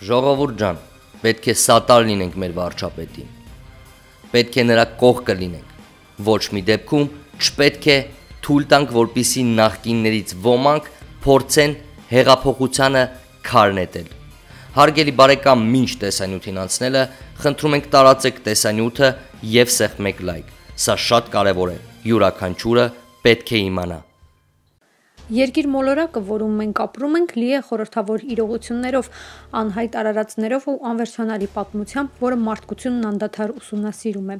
Ժողովուրդ ջան, պետք է սատար լինենք մեր վարչապետին։ Պետք է նրա կողքը լինենք։ Ոչ մի դեպքում չպետք է թույլ տանք, որպեսզի նախկիններից ոմանք փորձեն հեղափոխությանը քար նետել։ Հարգելի բարեկամ, մինչ տեսանյութին անցնելը, խնդրում ենք տարածեք տեսանյութը եւ սեղմեք լայք։ Սա շատ կարեւոր է։ Յուրաքանչյուրը պետք է իմանա։ Երկիր մոլորակը, որում մենք ապրում ենք, լի է խորհրդավոր իրողություններով, անհայտ արարածներով ու անվերջանալի պատմությամբ, որը մարդկությունն անդադար ուսումնասիրում է։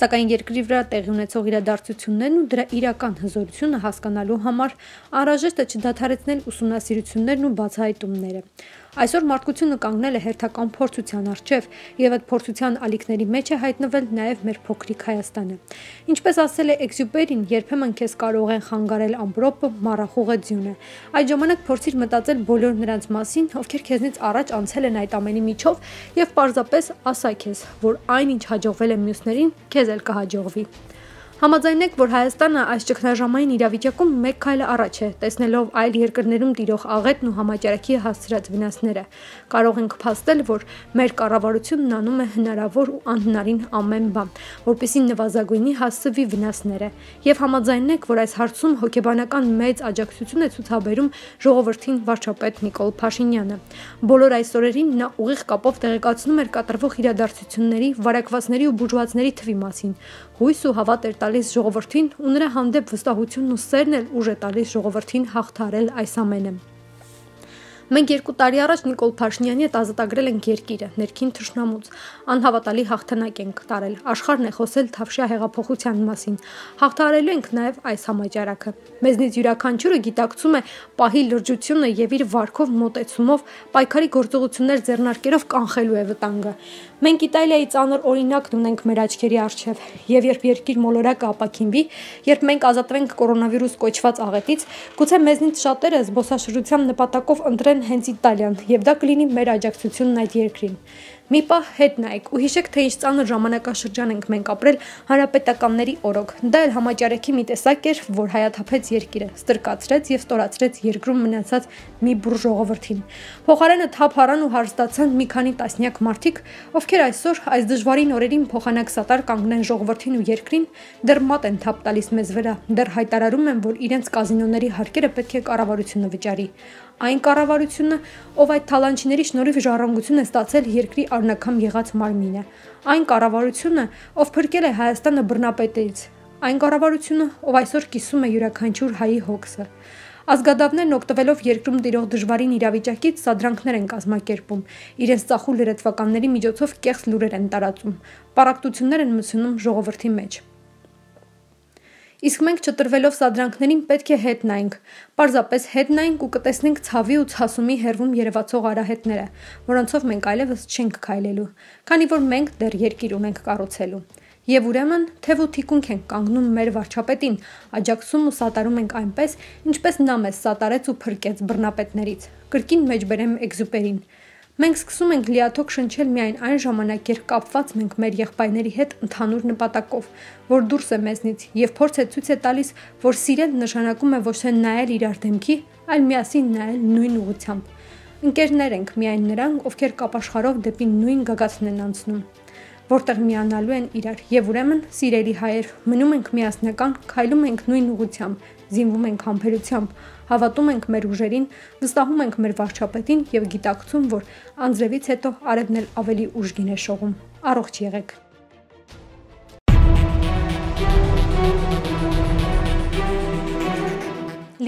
Սակայն երկրի վրա տեղի ունեցող իրադարձություններն ու դրա իրական հզորությունը հասկանալու համար անհրաժեշտ է չդադարեցնել ուսումնասիրություններն ու բացահայտումները։ Այսօր մարդկությունը կանգնել է հերթական փորձության առջև, եւ այդ փորձության ալիքների մեջ է հայտնվել նաեւ մեր փոքրիկ Հայաստանը։ Ինչպես ասել է Էքզյուպերին, երբեմն քեզ կարող են խանգարել ամպրոպը, մառախուղը ձյունը։ Այդ ժամանակ փորձիր մտածել բոլոր նրանց մասին, ովքեր քեզնից առաջ անցել են այդ ամենի միջով, եւ պարզապես ասա քեզ, որ այնինչ հաջողվել է մյուսներին, քեզ էլ կհաջողվի։ Համաձայնեք, որ Հայաստանը այս ճգնաժամային իրավիճակում մեկ քայլ առաջ է, տեսնելով այլ երկրներում տիրող աղետն ու համաճարակի հասցրած վնասները։ Կարող ենք փաստել, որ մեր կառավարությունն անում է հնարավոր ու անհնարին ամեն բան, որպեսզի նվազագույնի հասցվի վնասները։ Եվ համաձայնեք, որ այս հարցում հոգեբանական մեծ աջակցություն է ցուցաբերում ժողովրդին վարչապետ Նիկոլ Փաշինյանը։ Բոլոր այս օրերին նա ուղիղ կապով տեղեկացնում էր կատարվող իրադարձությունների, վարակվածների ու բուժվածների թվի մասին։ Հույս ու հավատ էր տալիս ժողովրդին ու նրա հանդեպ վստահությունն ու սերն էլ ուժ է տալիս ժողովրդին հաղթահարել այս ամենը։ Մենք 2 տարի առաջ Նիկոլ Փաշինյանի հետ ազատագրել ենք երկիրը ներքին թշնամուց, անհավատալի հաղթանակ ենք տարել, աշխարհն է խոսել Թավշյա հեղափոխության մասին, հաղթահարելու ենք նաև այս համաճարակը։ Մեզնից յուրաքանչյուրը գիտակցում է պահի լրջությունը եւ իր վարքով մոտեցումով պայքարի գործողություններ ձեռնարկելով կանխելու է վտանգը։ Մենք Իտալիայի ծանր օրինակն ունենք մեր աչքերի առջև, եւ երբ երկիր մոլորակը ապաքինվի, երբ մենք ազատվենք կորոնավիրուս կոչված աղետից, գուցե մեզնից շատերը զբոսաշրջության նպատակով ընտրեն հենց Իտալիան, եւ դա կլինի մեր աջակցությունն այդ երկրին։ Մի պահ հետ նայեք ու հիշեք, թե ինչ ծանր ժամանակաշրջան ենք մենք ապրել հանրապետականների օրոք։ Դա էլ համաճարակի մի տեսակ էր, որ հայաթափեց երկիրը, ստրկացրեց եւ ստորացրեց երկրում մնացած մի բուռ ժողովրդին։ Փոխարենը թափ առան ու հարստացան մի քանի տասնյակ մարդիկ, ովքեր այսօր այս դժվարին օրերին փոխանակ սատար կանգնեն ժողովրդին ու երկրին, դեռ մատ են թափ տալիս մեզ վրա, դեռ հայտարարում են, որ իրենց կազինոների հարկերը պետք է կառավարությունը վճարի։ Այն կառավարությունը, ով այդ թալանչիների շնորհիվ ժառանգություն է ստացել երկրի առնաքամ եղած մարմինը, այն կառավարությունը, ով փրկել է Հայաստանը բռնապետից, այն կառավարությունը, ով այսօր կիսում է յուրաքանչյուր հայի հոգսը։ Ազգադավներն օգտվելով երկրում տիրող դժվարին իրավիճակից սադրանքներ են կազմակերպում, իրենց ծախու լրատվականների միջոցով կեղծ լուրեր են տարածում, պառակտություններ են մտցնում ժողովրդի մեջ։ Իսկ մենք չտրվելով սադրանքներին պետք է հետ նայենք, պարզապես հետ նայենք ու կտեսնենք ցավի ու ցասումի հերվում երևացող արահետները, որոնցով մենք այլևս չենք քայլելու, քանի որ մենք դեռ երկիր ունենք կառուցելու։ Եվ ուրեմն թեև ու թիկունք ենք կանգնում մեր վարչապետին, աջակցում ու սատարում ենք այնպես, ինչպես նա մեզ սատարեց ու փրկեց բռնապետներից։ Կրկին մեջբերեմ Էքզյուպերին։ Մենք սկսում ենք լիաթոք շնչել միայն այն ժամանակ, երբ կապված մենք մեր եղբայրների հետ ընդհանուր նպատակով, որ դուրս է մեզնից եւ փորձ է ցույց է տալիս, որ սիրել նշանակում է ոչ թե նայել իրար դեմքի, այլ միասին նայել նույն ուղղությամբ։ Ընկերներ ենք միայն նրանք, ովքեր կապաշխարով դեպի նույն գագաթն են անցնում, որտեղ միանալու են իրար, եւ ուրեմն, սիրելի հայեր, մնում ենք միասնական, քայլում ենք նույն ուղղությամբ, զինվում ենք համբերությամբ, հավատում ենք մեր ուժերին, վստահում ենք մեր վարչապետին եւ գիտակցում, որ անձրևից հետո արևն էլ ավելի ուժգին է շողում։ Առողջ եղեք։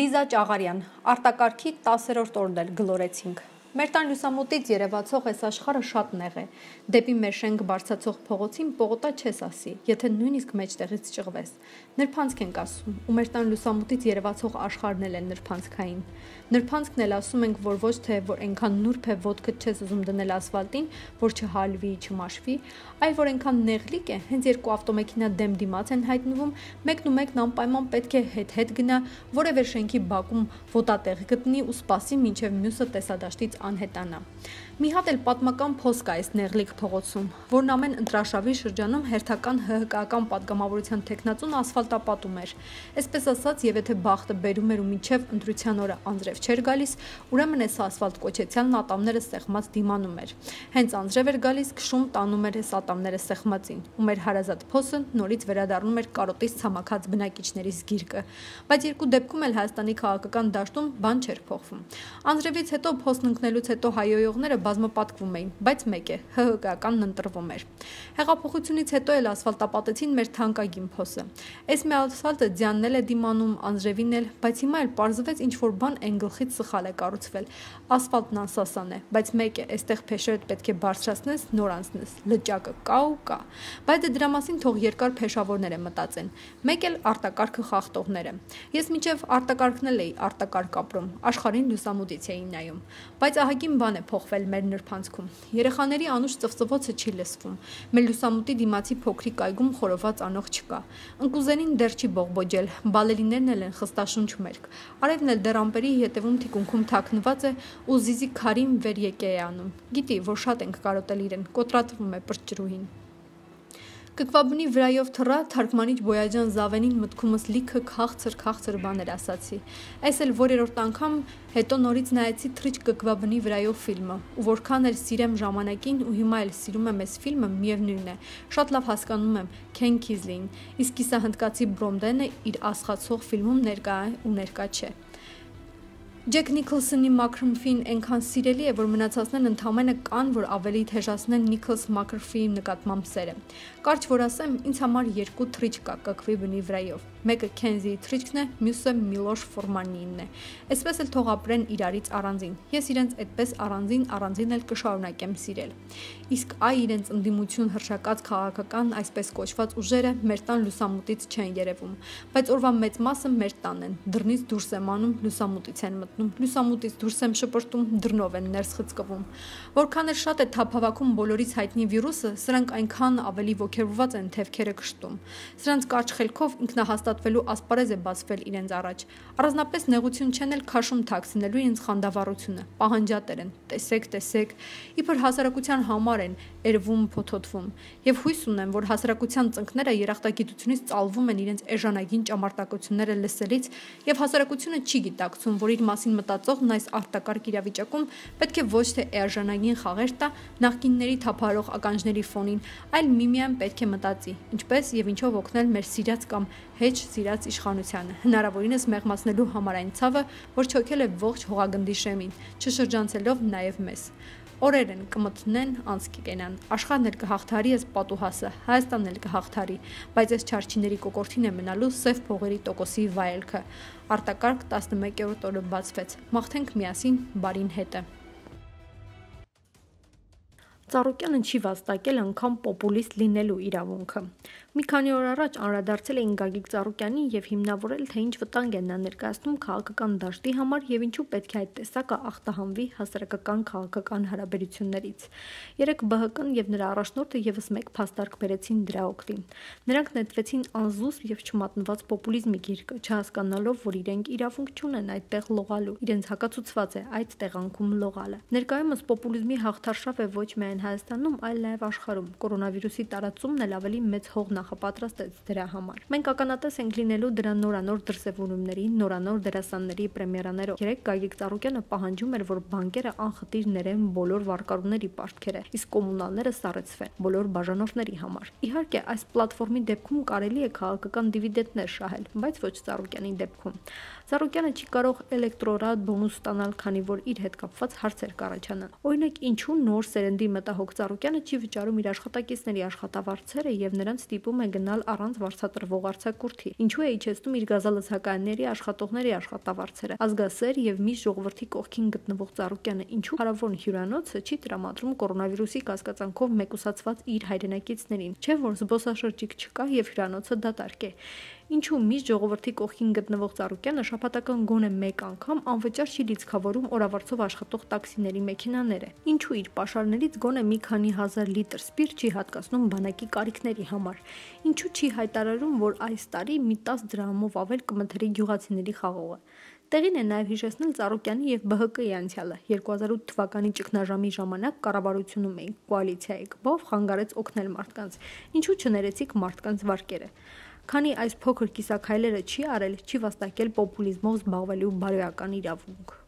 Լիզա Ճաղարյան, արտակարգի 10-րդ օրն էլ գլորեցինք։ Մեր տան լուսամուտից երևացող այս աշխարհը շատ նեղ է։ Դեպի մեր շենք բարձացող փողոցին պողոտա չես ասի, եթե նույնիսկ մեջտեղից ճղվես։ Նրբանցք ենք ասում, ու մեր տան լուսամուտից երևացող աշխարհն էլ է նրբանցքային։ Նրբանցքն էլ ասում ենք, որ ոչ թե որ այնքան նուրբ է ոտքդ չես ուզում դնել ասֆալտին, որ չհալվի, չմաշվի, այլ որ այնքան նեղլիկ է, հենց երկու ավտոմեքենա դեմ դիմաց են հայտնվում, մեկն ու մեկն անպայման պետք է հետ գնա, որևէ շենքի բակում ոտատեղ գտնի ու սպասի, մինչև մյուսը տեսադաշտից անհետանա։ Մի հատ էլ պատմական փոստ կա այս նեղլիկ փողոցում, որն ամեն ընտրաշավի շրջանում հերթական ՀՀԿ-ական պատգամավորության տեխնացուն ասֆալտապատում էր։ Այսպես ասած, եւ եթե բախտը բերում էր ու մինչև ընտրության օրը անձրև չէր գալիս, ուրեմն այս ասֆալտ կոչեցյալն ատամները սեղմած դիմանում էր։ Հենց անձրև էր գալիս, քշում տանում էր այս ատամները սեղմածին, ու մեր հարազատ փոսը նորից վերադառնում էր կարոտից ցամաքած բնակիչների զգիրկը։ Բայց երկու դեպքում էլ Հայաստանի քաղաքական դաշտում բան չէր փոխվում։ Անձրևից հետո փոստն ընկնելուց հետո հայոյողները բազմապատկվում էին, բայց մեկ է, ՀՀԿ-ականն ընտրվում էր։ Հեղափոխությունից հետո էլ ասֆալտապատեցին մեր թանկագին փոսը։ Այս մի ասֆալտը ձյանն է դիմանում, անձրևին էլ, բայց հիմա էլ պարզվեց ինչ-որ բան այն գլխից սխալ է կառուցվել։ Ասֆալտն անսասան է, բայց մեկ է, այստեղ փեշերդ պետք է բարձրացնես, նոր անցնես, լճակը կա ու կա։ Բայց դրա մասին թող երկար փեշավորները մտածեն։ Մեկ էլ արտակարգը խախտողները։ Ես մինչև արտակարգն էլ էի արտակարգ ապրում, աշխարհին լուսամուտից էի նայում։ Բայց ահագին բան է փոխվել մեր նրբանցքում։ Երեխաների անուշ ծվծվոցը չի լսվում։ Մեր լուսամուտի դիմացի փոքրիկ այգում խորոված անող չկա։ Ընկուզենին դեռ չի բողբոջել, բալերիներն էլ են խստաշունչ մերկ։ Արևն էլ դեռ ամպերի հետևում թիկունքում թաքնված է ու զիզի քարին վեր եկե է անում։ Գիտի, որ շատ ենք կարոտել իրեն, կոտրատվում է պրճրուհին։ Կկվաբնի վրայով թռա թարգմանիչ Բոյաջան Զավենին մտքումս լիքը քաղցր բաներ ասացի։ Այս էլ որերորդ անգամ հետո նորից նայեցի թռիչ կկվաբնի վրայով ֆիլմը, ու որքան էլ սիրեմ ժամանակին ու հիմա էլ սիրում եմ այս ֆիլմը, միևնույն է, շատ լավ հասկանում եմ Քեն Քիզլին, իսկ կիսահնդկացի Բրոմդենը իր ասխացող ֆիլմում ներկա է ու ներկա չէ։ Ջեք Նիքլսոնի Մաքրֆին այնքան սիրելի է, որ մնացածներն ընդամենը կան, որ ավելի թեժացնեն Նիքլս Մաքրֆիի նկատմամբ սերը։ Կարճ որ ասեմ, ինձ համար երկու թռիչ կա կկվի բնի վրայով։ Մեկը Քենզիի թռիչքն է, մյուսը Միլոշ Ֆորմանինն է։ Այսպես էլ թող ապրեն իրարից առանձին։ Ես իրենց այդպես առանձին էլ կշարունակեմ սիրել։ Իսկ այ իրենց ընդդիմություն հրշակած քաղաքական այսպես կոչված ուժերը մեր տան լուսամուտից չեն երևում, բայց օրվա մեծ մասը մեր տանն են։ Դռնից դուրս եմ անում, լուսամուտից են մտնում, լուսամուտից դուրս եմ շպրտում, դռնով են ներս խցկվում։ Որքան էլ շատ է թափավակում բոլորից հայտնի վիրուսը, սրանք այնքան ավելի ոգևորված են թևքերը կշտում։ Սրանց կարճ խելքով ինքնահաստատվելու ասպարեզ է բացվել իրենց առաջ։ Առանձնապես նեղություն չեն էլ քաշում թաքցնելու իրենց խանդավառությունը, պահանջատեր են, տեսեք, իբր հասարակության համար են երվում, փոթոթվում։ Եվ հույս ունեմ, որ հասարակության ծնկները երախտագիտությունից ծալվում են իրենց էժանագին ճամարտակությունները լսելից, եւ հասարակությունը չի գիտակցում, որ իր մասին մտածողն այս արտակարգ իրավիճակում պետք է ոչ թե էժանագին խաղեր տա նախկինների թափարող ականջների ֆոնին, այլ միմիան պետք է մտածի, ինչպես եւ ինչով օգնել մեր սիրած կամ հեչ սիրած իշխանությանը, հնարավորինս մեղմացնելու համար այն ցավը, որ չոքել է ողջ հողագնդի շեմին, չշրջանցելով նաեւ մեզ։ Օրեր են կմտնեն, անց կգենան, աշխարհն էլ կհաղթարի այս պատուհասը, Հայաստանն էլ կհաղթարի, բայց այս չարչիների կոկորտին է մնալու սև փողերի տոկոսի վայելքը։ Արտակարգ 11-րդ օրը բացվեց, մաղթենք միասին բարին հետը։ Ծառուկյանը չի վաստակել անգամ պոպուլիստ լինելու իրավունքը։ Մի քանի օր առաջ անդրադարձել էին Գագիկ Ծառուկյանին եւ հիմնավորել, թե ինչ վտանգ է նա ներկայացնում քաղաքական դաշտի համար եւ ինչու պետք է այդ տեսակը ախտահանվի հասարակական քաղաքական հարաբերություններից։ Երեք ԲՀԿ-ն եւ նրա առաջնորդը եւս մեկ փաստարկ բերեցին դրա օգտին։ Նրանք նետվեցին անզուսպ եւ չմատնված պոպուլիզմի գիրկը, չհասկանալով, որ իրենք իրավունք չունեն այդտեղ լողալու։ Իրենց հակացուցված է այդ տեղանքում լողալը։ Ներկայումս պոպուլիզմի հաղթարշավ է ոչ միայն Հայաստանում, այլ նաև աշխարհում։ Կորոնավիրուսի տարածումն էլ ավելի մեծ հող նախապատրաստեց դրա համար։ Մենք ականատես ենք լինելու դրա նորանոր դրսևորումների, նորանոր դերասանների պրեմիերաներով։ Երեք Գագիկ Ծառուկյանը պահանջում էր, որ բանկերը անխտիր ներեն բոլոր վարկառուների պարտքերը, իսկ կոմունալները սառեցվեն բոլոր բաժանորդների համար։ Իհարկե, այս պլատֆորմի դեպքում կարելի է քաղաքական դիվիդենտներ շահել, բայց ոչ Ծառուկյանի դեպքում։ Ծառուկյանը չի կարող էլեկտորատ բոնուս ստանալ, քանի որ իր հետ կապված հարցեր կառաջանան։ Օրինակ, ինչու նոր սերնդի մտահոգ Ծառուկյանը չի վճարում իր աշխատակիցների աշխատավարձերը եւ նրանց ստիպում է գնալ առանց վարձատրվող արձակուրդի։ Ինչու է իջեցնում իր գազալցականների աշխատողների աշխատավարձերը։ Ազգասեր եւ միշտ ժողովրդի կողքին գտնվող Ծառուկյանը ինչու հարավոն հյուրանոցը չի տրամադրում կորոնավիրուսի կասկածանքով մեկուսացված իր հայրենակիցներին, չէ՞ որ զբոսաշրջիկ չկա եւ հյուրանոցը դատարկ է։ Ինչու միշտ ժողովրդի կողքին գտնվող Ծառուկյանը շաբաթական գոնե մեկ անգամ անվճար չի լիցքավորում օրավարձով աշխատող տաքսիների մեքենաները։ Ինչու իր պաշարներից գոնե մի քանի հազար լիտր սպիրտ չի հատկացնում բանակի կարիքների համար։ Ինչու չի հայտարարում, որ այս տարի մի 10 դրամով ավել կմթերի գյուղացիների խաղողը։ Տեղին է նաև հիշեցնել Ծառուկյանի եւ ԲՀԿ-ի անցյալը։ 2008 թվականի ճգնաժամի ժամանակ կառավարությունում էին, կոալիցիայի կբով խանգարեց օգնել մարդկանց։ Ինչու չներեցիք մարդկանց վարկերը։ Քանի այս փոքր կիսաքայլերը չի արել, չի վաստակել պոպուլիզմով զբաղվելու բարոյական իրավունք։